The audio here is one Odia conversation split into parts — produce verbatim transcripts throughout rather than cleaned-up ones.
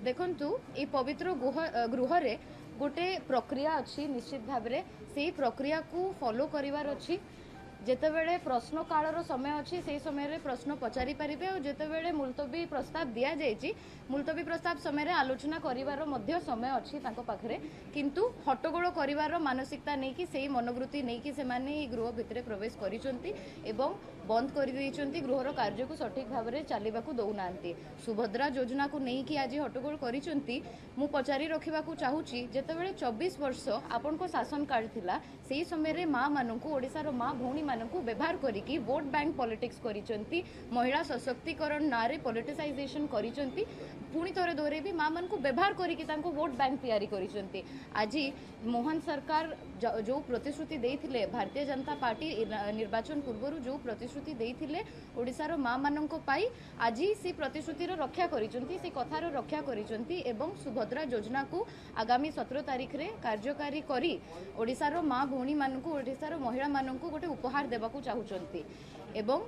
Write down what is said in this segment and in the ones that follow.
ଦେଖନ୍ତୁ, ଏଇ ପବିତ୍ର ଗୁହ ଗୃହରେ ଗୋଟେ ପ୍ରକ୍ରିୟା ଅଛି। ନିଶ୍ଚିତ ଭାବରେ ସେଇ ପ୍ରକ୍ରିୟାକୁ ଫଲୋ କରିବାର ଅଛି। ଯେତେବେଳେ ପ୍ରଶ୍ନ କାଳର ସମୟ ଅଛି, ସେଇ ସମୟରେ ପ୍ରଶ୍ନ ପଚାରି ପାରିବେ, ଆଉ ଯେତେବେଳେ ମୁଲତବୀ ପ୍ରସ୍ତାବ ଦିଆଯାଇଛି, ମୁଲତବୀ ପ୍ରସ୍ତାବ ସମୟରେ ଆଲୋଚନା କରିବାର ମଧ୍ୟ ସମୟ ଅଛି ତାଙ୍କ ପାଖରେ। କିନ୍ତୁ ହଟ୍ଟଗୋଳ କରିବାର ମାନସିକତା ନେଇକି, ସେଇ ମନୋବୃତ୍ତି ନେଇକି ସେମାନେ ଏଇ ଗୃହ ଭିତରେ ପ୍ରବେଶ କରିଛନ୍ତି ଏବଂ ବନ୍ଦ କରିଦେଇଛନ୍ତି। ଗୃହର କାର୍ଯ୍ୟକୁ ସଠିକ ଭାବରେ ଚାଲିବାକୁ ଦେଉନାହାନ୍ତି। ସୁଭଦ୍ରା ଯୋଜନାକୁ ନେଇକି ଆଜି ହଟ୍ଟଗୋଳ କରିଛନ୍ତି। ମୁଁ ପଚାରି ରଖିବାକୁ ଚାହୁଁଛି, ଯେତେବେଳେ ଚବିଶ ବର୍ଷ ଆପଣଙ୍କ ଶାସନ କାଳ ଥିଲା, ସେଇ ସମୟରେ ମା ମାନଙ୍କୁ, ଓଡ଼ିଶାର ମା ଭଉଣୀମାନଙ୍କୁ ବ୍ୟବହାର କରିକି ଭୋଟ ବ୍ୟାଙ୍କ ପଲିଟିକ୍ସ କରିଛନ୍ତି। ମହିଳା ସଶକ୍ତିକରଣ ନାଁରେ ପଲିଟିସାଇଜେସନ କରିଛନ୍ତି। ପୁଣି ଥରେ ଦୋହରେଇବି, ମା ମାନଙ୍କୁ ବ୍ୟବହାର କରିକି ତାଙ୍କୁ ଭୋଟ ବ୍ୟାଙ୍କ ତିଆରି କରିଛନ୍ତି। ଆଜି ମୋହନ ସରକାର ଯେଉଁ ପ୍ରତିଶ୍ରୁତି ଦେଇଥିଲେ, ଭାରତୀୟ ଜନତା ପାର୍ଟି ନିର୍ବାଚନ ପୂର୍ବରୁ ଯେଉଁ ପ୍ରତିଶ୍ରୁତି ଦେଇଥିଲେ ଓଡ଼ିଶାର ମା ମାନଙ୍କ ପାଇଁ, ଆଜି ସେ ପ୍ରତିଶ୍ରୁତିର ରକ୍ଷା କରିଛନ୍ତି, ସେ କଥାର ରକ୍ଷା କରିଛନ୍ତି ଏବଂ ସୁଭଦ୍ରା ଯୋଜନାକୁ ଆଗାମୀ ସତର ତାରିଖରେ କାର୍ଯ୍ୟକାରୀ କରି ଓଡ଼ିଶାର ମା ଭଉଣୀମାନଙ୍କୁ, ଓଡ଼ିଶାର ମହିଳାମାନଙ୍କୁ ଗୋଟେ ଉପହାର ଦେବାକୁ ଚାହୁଁଛନ୍ତି। ଏବଂ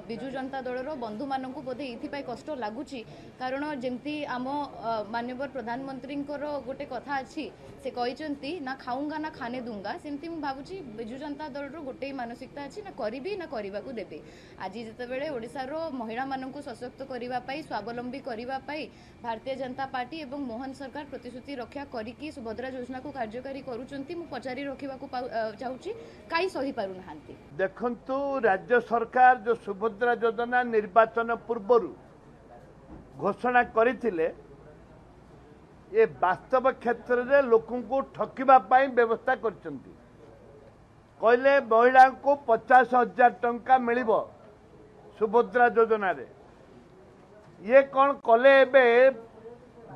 ବିଜୁ ଜନତା ଦଳର ବନ୍ଧୁମାନଙ୍କୁ ବୋଧେ ଏଇଥିପାଇଁ କଷ୍ଟ ଲାଗୁଛି, କାରଣ ଯେମିତି ଆମ ମାନ୍ୟବର ପ୍ରଧାନମନ୍ତ୍ରୀଙ୍କର ଗୋଟେ କଥା ଅଛି, ସେ କହିଛନ୍ତି ନା ଖାଉଙ୍ଗା ନା ଖାନେ ଦୁଙ୍ଗା, ସେମିତି ମୁଁ ଭାବୁଛି ବିଜୁ ଜନତା ଦଳର ଗୋଟେ ମାନସିକତା ଅଛି, ନା କରିବି ନା କରିବାକୁ ଦେବି। ଆଜି ଯେତେବେଳେ ଓଡ଼ିଶାର ମହିଳାମାନଙ୍କୁ ସଶକ୍ତ କରିବା ପାଇଁ, ସ୍ୱାବଲମ୍ବୀ କରିବା ପାଇଁ ଭାରତୀୟ ଜନତା ପାର୍ଟି ଏବଂ ମୋହନ ସରକାର ପ୍ରତିଶ୍ରୁତି ରକ୍ଷା କରିକି ସୁଭଦ୍ରା ଯୋଜନାକୁ କାର୍ଯ୍ୟକାରୀ କରୁଛନ୍ତି, ମୁଁ ପଚାରି ରଖିବାକୁ ଚାହୁଁଛି, କାହିଁ ସହିପାରୁନାହାନ୍ତି? ଦେଖନ୍ତୁ, ରାଜ୍ୟ ସରକାର ଯେଉଁ ସୁଭଦ୍ରା ଯୋଜନା ନିର୍ବାଚନ ପୂର୍ବରୁ ଘୋଷଣା କରିଥିଲେ, ଏ ବାସ୍ତବ କ୍ଷେତ୍ରରେ ଲୋକଙ୍କୁ ଠକିବା ପାଇଁ ବ୍ୟବସ୍ଥା କରିଛନ୍ତି। କହିଲେ ମହିଳାଙ୍କୁ ପଚାଶ ହଜାର ଟଙ୍କା ମିଳିବ ସୁଭଦ୍ରା ଯୋଜନାରେ। ଇଏ କ'ଣ କଲେ? ଏବେ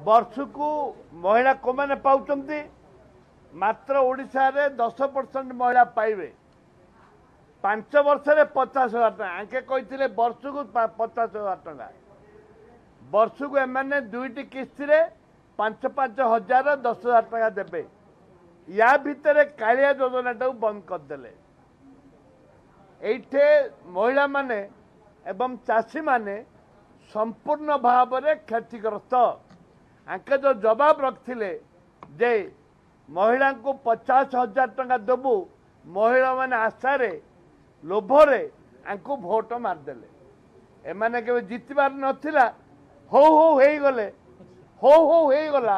ବର୍ଷକୁ ମହିଳା କୋଉମାନେ ପାଉଛନ୍ତି? ମାତ୍ର ଓଡ଼ିଶାରେ ଦଶ ପରସେଣ୍ଟ ମହିଳା ପାଇବେ ପାଞ୍ଚ ବର୍ଷରେ ପଚାଶ ହଜାର ଟଙ୍କା। ଆଙ୍କେ କହିଥିଲେ ବର୍ଷକୁ ପଚାଶ ହଜାର ଟଙ୍କା। ବର୍ଷକୁ ଏମାନେ ଦୁଇଟି କିସ୍ତିରେ ପାଞ୍ଚ ପାଞ୍ଚ ହଜାର ଦଶ ହଜାର ଟଙ୍କା ଦେବେ। ୟା ଭିତରେ କାଳିଆ ଯୋଜନାଟାକୁ ବନ୍ଦ କରିଦେଲେ। ଏଇଠି ମହିଳାମାନେ ଏବଂ ଚାଷୀମାନେ ସମ୍ପୂର୍ଣ୍ଣ ଭାବରେ କ୍ଷତିଗ୍ରସ୍ତ। ଆଙ୍କେ ଯେଉଁ ଜବାବ ରଖିଥିଲେ ଯେ ମହିଳାଙ୍କୁ ପଚାଶ ହଜାର ଟଙ୍କା ଦେବୁ, ମହିଳାମାନେ ଆଶାରେ ଲୋଭରେ ଆଙ୍କୁ ଭୋଟ ମାରିଦେଲେ। ଏମାନେ କେବେ ଜିତିବାର ନଥିଲା, ହଉ ହଉ ହେଇଗଲେ, ହଉ ହଉ ହେଇଗଲା,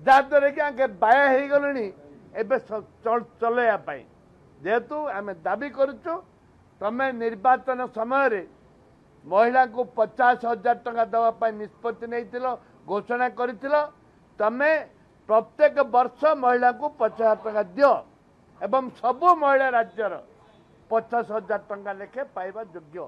ଯାହାଦ୍ୱାରା କି ଆଙ୍କେ ବାୟା ହେଇଗଲେଣି ଏବେ ଚଲେଇବା ପାଇଁ। ଯେହେତୁ ଆମେ ଦାବି କରୁଛୁ, ତମେ ନିର୍ବାଚନ ସମୟରେ ମହିଳାଙ୍କୁ ପଚାଶ ହଜାର ଟଙ୍କା ଦେବା ପାଇଁ ନିଷ୍ପତ୍ତି ନେଇଥିଲ, ଘୋଷଣା କରିଥିଲ, ତମେ ପ୍ରତ୍ୟେକ ବର୍ଷ ମହିଳାଙ୍କୁ ପଚାଶ ହଜାର ଟଙ୍କା ଦିଅ ଏବଂ ସବୁ ମହିଳା ରାଜ୍ୟର ପଚାଶ ହଜାର ଟଙ୍କା ଲେଖେ ପାଇବା ଯୋଗ୍ୟ।